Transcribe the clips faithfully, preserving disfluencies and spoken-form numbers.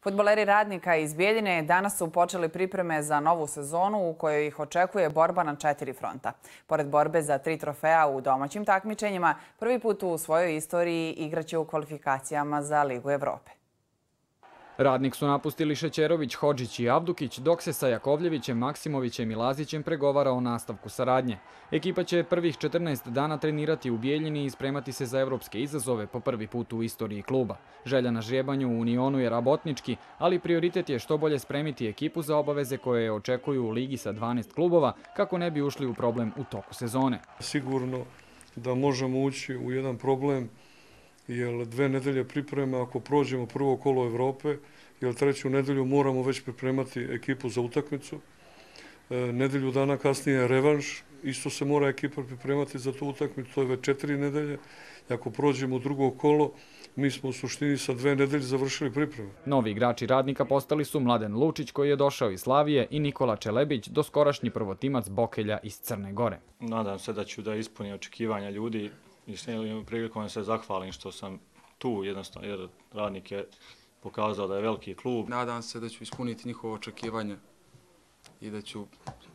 Fudbaleri Radnika iz Bijeljine danas su počeli pripreme za novu sezonu u kojoj ih očekuje borba na četiri fronta. Pored borbe za tri trofeja u domaćim takmičenjima, prvi put u svojoj istoriji igraće u kvalifikacijama za Ligu Evrope. Radnik su napustili Šećerović, Hodžić i Avdukić, dok se sa Jakovljevićem, Maksimovićem i Lazićem pregovara o nastavku saradnje. Ekipa će prvih četrnaest dana trenirati u Bijeljini i spremati se za evropske izazove po prvi put u istoriji kluba. Želja na žrebanju u Unionu je rabotnički, ali prioritet je što bolje spremiti ekipu za obaveze koje je očekuju u ligi sa dvanaest klubova, kako ne bi ušli u problem u toku sezone. Sigurno da možemo ući u jedan problem, jer dve nedelje pripreme ako prođemo prvo kolo Evrope, jer treću nedelju moramo već pripremati ekipu za utakmicu. Nedelju dana kasnije revanš, isto se mora ekipa pripremati za tu utakmicu, to je već četiri nedelje. I ako prođemo u drugo kolo, mi smo u suštini sa dve nedelje završili pripreme. Novi igrači Radnika postali su Mladen Lučić, koji je došao iz Slavije, i Nikola Čelebić, doskorašnji prvotimac Bokelja iz Crne Gore. Nadam se da ću da ispunim očekivanja ljudi i s njim prilikom se zahvalim što sam tu, jednostavno, jer Radnik je pokazao da je veliki klub. Nadam se da ću ispuniti njihovo očekivanje i da ću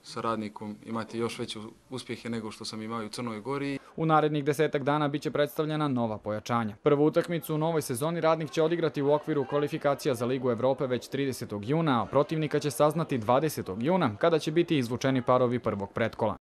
sa Radnikom imati još veće uspjehe nego što sam imao u Crnoj Gori. U narednih desetak dana biće predstavljena nova pojačanja. Prvu utakmicu u novoj sezoni Radnik će odigrati u okviru kvalifikacija za Ligu Evrope već tridesetog juna, a protivnika će saznati dvadesetog juna, kada će biti izvučeni parovi prvog pretkola.